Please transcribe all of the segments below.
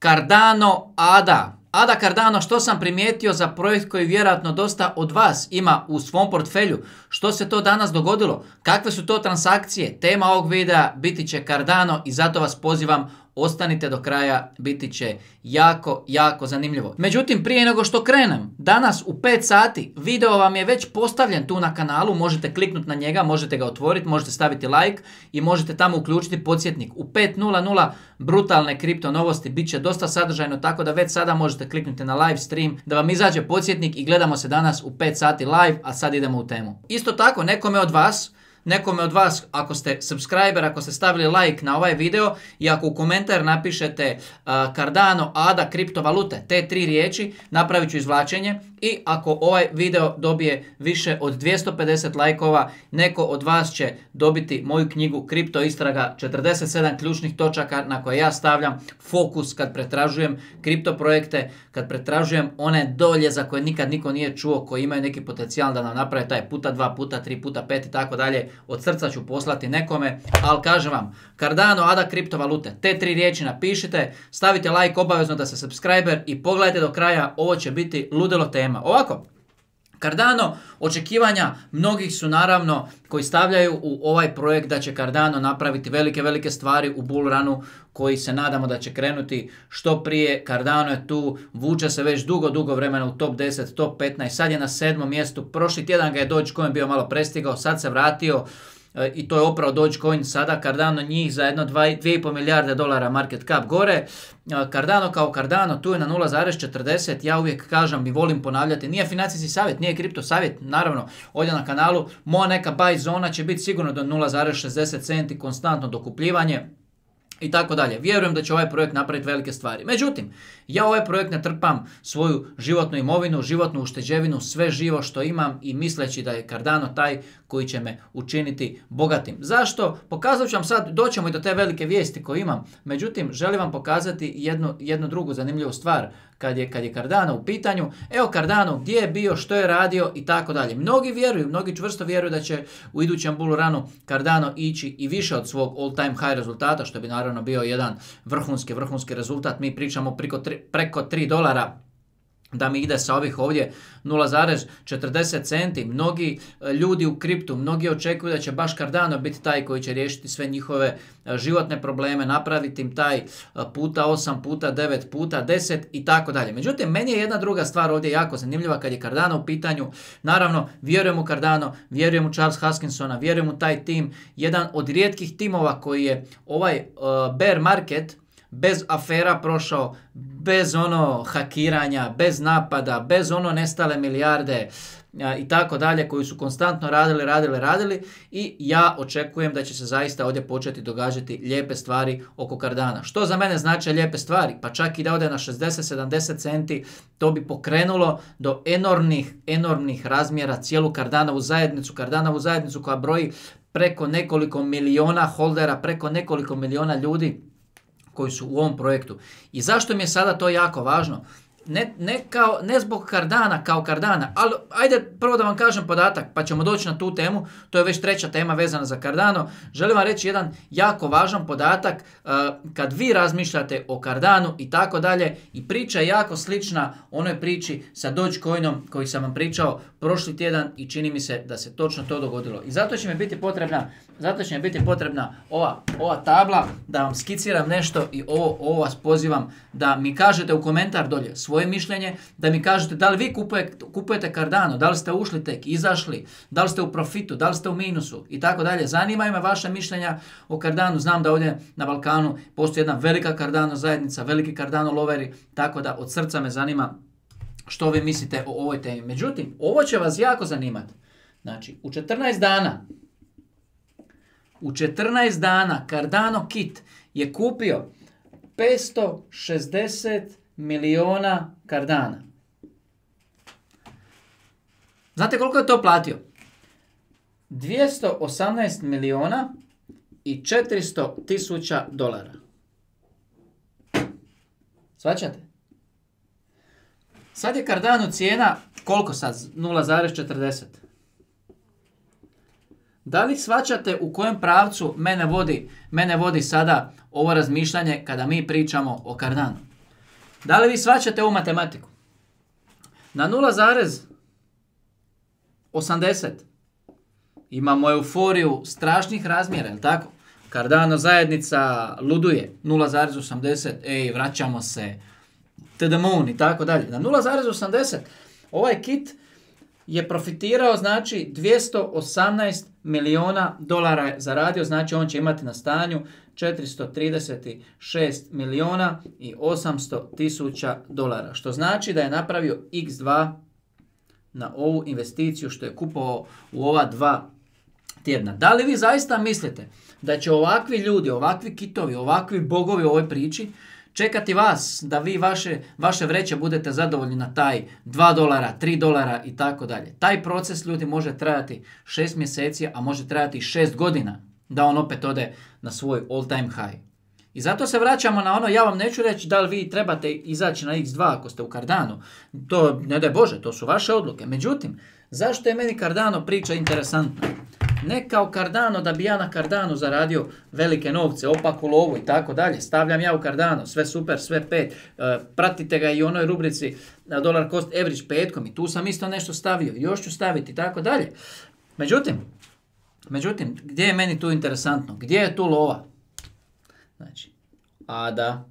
Cardano ADA. ADA Cardano, što sam primijetio za projekt koji vjerojatno dosta od vas ima u svom portfelju? Što se to danas dogodilo? Kakve su to transakcije? Tema ovog videa biti će Cardano i zato vas pozivam, ostanite do kraja, biti će jako zanimljivo. Međutim, prije nego što krenem, danas u 5 sati video vam je već postavljen tu na kanalu, možete kliknuti na njega, možete ga otvoriti, možete staviti like i možete tamo uključiti podsjetnik. U 5:00 brutalne kripto novosti, bit će dosta sadržajno, tako da već sada možete kliknuti na live stream da vam izađe podsjetnik i gledamo se danas u 5 sati live, a sad idemo u temu. Isto tako, nekome od vas, ako ste subscriber, ako ste stavili like na ovaj video i ako u komentar napišete Cardano, ADA, kriptovalute, te 3 riječi, napravit ću izvlačenje i ako ovaj video dobije više od 250 lajkova, neko od vas će dobiti moju knjigu Kripto istraga, 47 ključnih točaka na koje ja stavljam fokus kad pretražujem kripto projekte, kad pretražujem one dolje za koje nikad niko nije čuo, koji imaju neki potencijal da nam naprave taj puta 2, puta 3, puta 5 i tako dalje. Od srca ću poslati nekome, ali kažem vam, Cardano, ADA, kriptovalute, te 3 riječi napišite, stavite like obavezno da ste subscriber i pogledajte do kraja, ovo će biti ludilo tema. Ovako, Cardano, očekivanja mnogih su naravno koji stavljaju u ovaj projekt da će Cardano napraviti velike stvari u bull runu koji se nadamo da će krenuti što prije. Cardano je tu, vuče se već dugo vremena u top 10, top 15, sad je na 7. mjestu, prošli tjedan ga je Dogecoin bio malo prestigao, sad se vratio i to je oprao Dogecoin, sada Cardano njih za jedno 2,5 milijarde dolara market cap gore. Cardano kao Cardano tu je na 0,40, ja uvijek kažem i volim ponavljati, nije financijski savjet, nije kripto savjet, naravno ovdje na kanalu, moja neka buy zona će biti sigurno do 0,60 centi, konstantno dokupljivanje i tako dalje. Vjerujem da će ovaj projekt napraviti velike stvari. Međutim, ja ovaj projekt ne trpam svoju životnu imovinu, životnu ušteđevinu, sve živo što imam i misleći da je Cardano taj koji će me učiniti bogatim. Zašto? Pokazat ću vam sad, doćemo i do te velike vijesti koje imam. Međutim, želim vam pokazati jednu drugu zanimljivu stvar kad je Cardano u pitanju. Evo Cardano, gdje je bio, što je radio i tako dalje. Mnogi čvrsto vjeruju da će u idućem bull runu Cardano ići i više od svog all time high rezultata, što bi naravno bio jedan vrhunski rezultat. Mi pričamo preko $3 da mi ide sa ovih ovdje 0,40 centi. Mnogi ljudi u kriptu, mnogi očekuju da će baš Cardano biti taj koji će riješiti sve njihove životne probleme, napraviti im taj puta 8, puta 9, puta 10 i tako dalje. Međutim, meni je jedna druga stvar ovdje jako zanimljiva kad je Cardano u pitanju. Naravno, vjerujem u Cardano, vjerujem u Charles Hoskinsona, vjerujem u taj tim. Jedan od rijetkih timova koji je ovaj bear market bez afera prošao, bez hakiranja, bez napada, bez nestale milijarde i tako dalje, koji su konstantno radili i ja očekujem da će se zaista ovdje početi događati lijepe stvari oko Cardana. Što za mene znači lijepe stvari? Pa čak i da ode na 60-70 centi, to bi pokrenulo do enormnih razmjera cijelu Cardanovu zajednicu koja broji preko nekoliko miliona holdera, preko nekoliko miliona ljudi koji su u ovom projektu. I zašto mi je sada to jako važno? Ne zbog Cardana kao Cardana, ali ajde prvo da vam kažem podatak, pa ćemo doći na tu temu, to je već 3. tema vezana za Cardano. Želim vam reći jedan jako važan podatak, kad vi razmišljate o Cardanu i tako dalje, i priča je jako slična onoj priči sa Dogecoinom koji sam vam pričao prošli tjedan i čini mi se da se točno to dogodilo. I zato će mi biti potrebna ova tabla da vam skiciram nešto i ovo vas pozivam da mi kažete u komentar dolje svoje mišljenje, da mi kažete da li vi kupujete Cardano, da li ste ušli tek, izašli, da li ste u profitu, da li ste u minusu i tako dalje. Zanimaju me vaša mišljenja o Cardanu. Znam da ovdje na Balkanu postoji jedna velika Cardano zajednica, veliki Cardano loveri, tako da od srca me zanima što vi mislite o ovoj temi. Međutim, ovo će vas jako zanimati. Znači, u 14 dana Cardano Kit je kupio 560 miliona Cardana. Znate koliko je to platio? 218 miliona i 400 tisuća dolara. Svaćate? Sad je Cardano cijena, koliko sad? 0,40. Da li shvaćate u kojem pravcu mene vodi sada ovo razmišljanje kada mi pričamo o Cardanu? Da li vi shvaćate ovu matematiku? Na 0,80 imamo euforiju strašnih razmjera, jel tako? Cardano zajednica luduje, 0,80, ej, vraćamo se, to the moon i tako dalje. Na 0,80 ovaj kit je profitirao, znači 218 milijuna dolara je zaradio, znači on će imati na stanju 436 milijuna i 800 tisuća dolara, što znači da je napravio x2 na ovu investiciju što je kupovao u ova 2 tjedna. Da li vi zaista mislite da će ovakvi ljudi, ovakvi kitovi, ovakvi bogovi u ovoj priči čekati vas da vi vaše vreće budete zadovoljni na taj 2 dolara, 3 dolara i tako dalje. Taj proces, ljudi, može trajati 6 mjeseci, a može trajati 6 godina da on opet ode na svoj all time high. I zato se vraćamo na ono, ja vam neću reći da li vi trebate izaći na X2 ako ste u Cardano. To, ne daj Bože, to su vaše odluke. Međutim, zašto je meni Cardano priča interesantna? Ne kao Cardano da bi ja na Cardano zaradio velike novce, opaku lovu i tako dalje. Stavljam ja u Cardano, sve super, sve 5. Pratite ga i u onoj rubrici dollar cost average petkom i tu sam isto nešto stavio. Još ću staviti i tako dalje. Međutim, gdje je meni tu interesantno? Gdje je tu lova? Znači, ADA.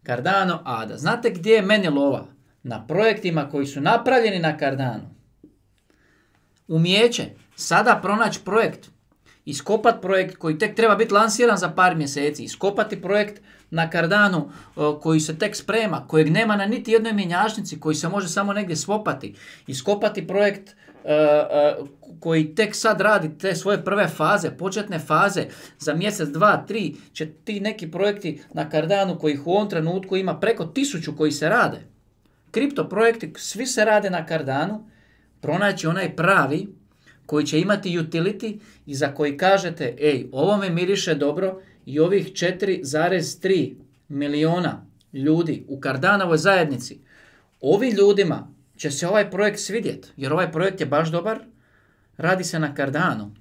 Cardano, ADA. Znate gdje je meni lova? Na projektima koji su napravljeni na Cardano. Umijeće sada pronaći projekt, iskopati projekt koji tek treba biti lansiran za par mjeseci, iskopati projekt na Cardano koji se tek sprema, kojeg nema na niti jednoj mjenjačnici, koji se može samo negdje swapati, iskopati projekt koji tek sad radi te svoje prve faze, početne faze, za mjesec, 2, 3 će ti neki projekti na Cardano kojih u ovom trenutku ima preko 1000 koji se rade. Kripto projekti, svi se rade na Cardano, pronaći onaj pravi koji će imati utility i za koji kažete, ej, ovo me miriše dobro i ovih 4,3 milijuna ljudi u Cardanovoj zajednici, ovi ljudima će se ovaj projekt svidjeti, jer ovaj projekt je baš dobar, radi se na Cardano.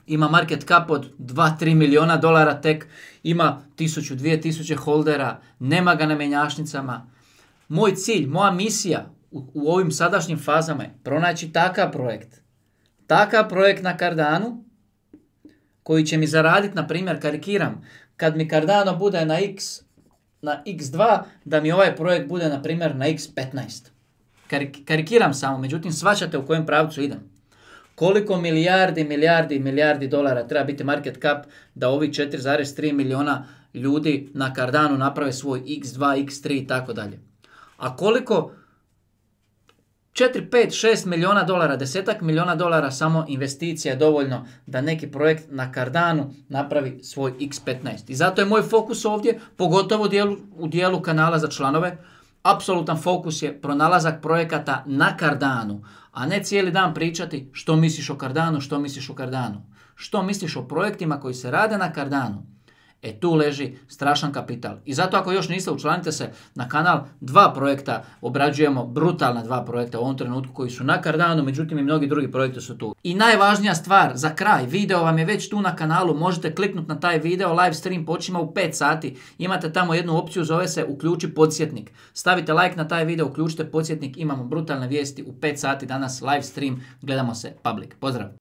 Ima market cap od 2-3 milijuna dolara tek, ima 1000-2000 holdera, nema ga na mjenjačnicama. Moj cilj, moja misija u ovim sadašnjim fazama je pronaći takav projekt na Cardano koji će mi zaraditi, na primjer, karikiram, kad mi Cardano bude na X2, da mi ovaj projekt bude, na primjer, na X15. Karikiram samo, međutim, shvaćate u kojem pravcu idem. Koliko milijardi dolara treba biti market cap da ovi 4,3 milijuna ljudi na Cardano naprave svoj X2, X3 i tako dalje. A koliko 4, 5, 6 milijuna dolara, 10 milijuna dolara samo investicija je dovoljno da neki projekt na Cardano napravi svoj X15. I zato je moj fokus ovdje, pogotovo u dijelu kanala za članove, apsolutan fokus je pronalazak projekata na Cardano, a ne cijeli dan pričati što misliš o Cardano, što misliš o Cardano. Što misliš o projektima koji se rade na Cardano. Tu leži strašan kapital. I zato ako još niste, učlanite se na kanal. 2 projekta obrađujemo, brutalna 2 projekta u ovom trenutku koji su na Cardano, međutim i mnogi drugi projekti su tu. I najvažnija stvar, za kraj, video vam je već tu na kanalu, možete kliknuti na taj video, live stream počima u 5 sati, imate tamo jednu opciju, zove se uključi podsjetnik. Stavite like na taj video, uključite podsjetnik, imamo brutalne vijesti u 5 sati danas, live stream, gledamo se public. Pozdrav!